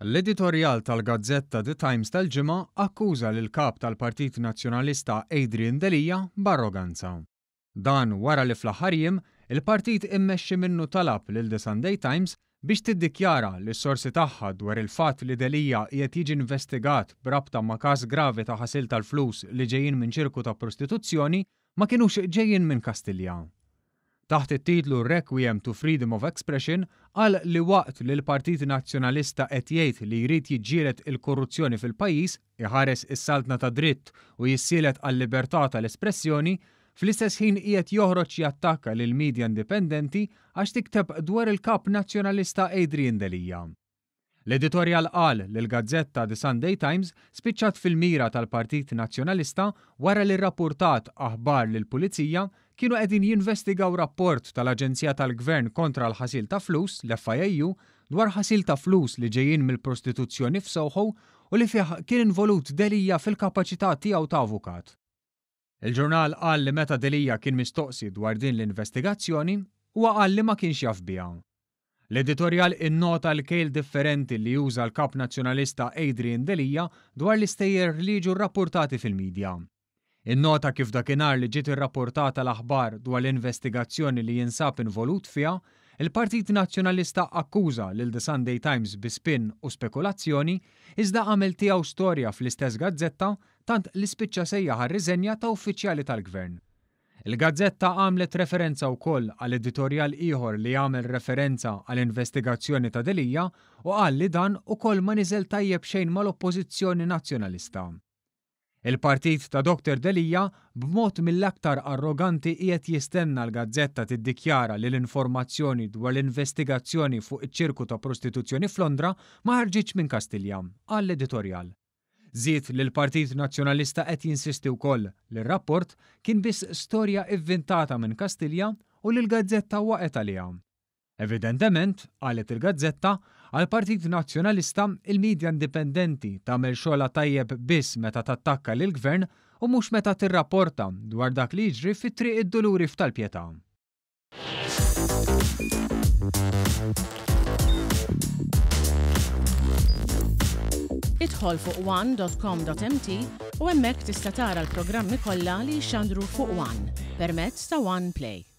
L-editorjal tal-gazzetta The Times tal-Ġimgħa akkuża lill-Kap tal-Partit Nazzjonalista Adrian Delia b'arroganza. Dan wara li fl-aħħar jiem, il-partit immexxi minnu talab lil The Sunday Times biex tiddikjara li s-sorsi tagħha dwar il-fatt li Delia qiegħed jiġi investigat b'rabta ma' każ gravi ta' ħasil tal-flus li ġejjin minn ċirku ta' prostituzzjoni ma kinux ġejjin minn Kastilja. Taħt it-titlu Requiem to Freedom of Expression qal li waqt li l-Partit Nazzjonalista qed jgħid li jrid jiġġieled il-korruzzjoni fil-pajjiż, iħares is-saltna tad-dritt u jissielet għal-libertà tal-espressjoni, fl-istess ħin qiegħed joħroġ jattakka lill-media indipendenti għax tikteb dwar il-Kap Nazzjonalista Adrian Delia. L-editorjal qal li l-gazzetta The Sunday Times spiċċat fil-mira tal-Partit Nazzjonalista wara li rrappurtat aħbar li l-Pulizija kienu qegħdin jinvestigaw rapport tal-Aġenzija tal-Gvern kontra l-Ħasil ta' Flus, l-FIAU, dwar ħasil ta' flus li ġejjin mill-prostituzzjoni f'Soho u li fih kien involut Delia fil-kapaċità tiegħu ta' avukat. Il-ġurnal qal li meta Delia kien mistoqsi dwar din l-investigazzjoni, huwa qal li ma kienx jaf biha. L-editorjal innota l-kejl differenti li juża l-Kap Nazzjonalista Adrian Delia dwar l-istejjer li jiġu rrappurtati fil-midja. Innota kif dakinhar li ġiet irrappurtata l-aħbar dwar l-investigazzjoni li jinsab involut fiha, il-Partit Nazzjonalista akkuża lil The Sunday Times bi spin u spekulazzjoni iżda għamel tiegħu storja fl-istess gazzetta tant li spiċċa sejjaħ għar-riżenja ta' uffiċjali tal-Gvern. Il-gazzetta għamlet referenza wkoll għal editorjal ieħor li għamel referenza għal investigazzjoni ta' Delia u qal li dan ukoll ma niżel tajjeb xejn mal-Oppożizzjoni Nazzjonalista. Il-partit ta' Doctor Delia b'mod mill-aktar arroganti qiegħed jistenna l-gazzetta tiddikjara li l-informazzjoni dwar l-investigazzjoni fuq iċ-ċirku ta' prostituzzjoni f'Londra ma ħarġitx minn Kastilja, qal l-editorjal. Żied li l-Partit Nazzjonalista qed jinsisti wkoll li r-rapport kien biss storja ivvintata minn Kastilja u li l-gazzetta waqgħet għaliha. Evidentement, qalet il-gazzetta, għall-Partit Nazzjonalista il-media indipendenti tagħmel xogħolha tajjeb biss meta tattakka lill-Gvern u mhux meta tirrapporta dwar dak li jiġri fi Triq id-Duluri f'Tal-Pietà. Idħol fuq one.com.mt u hemmhekk tista' tara l-programmi kollha li jixxandru fuq One permezz ta' One Play.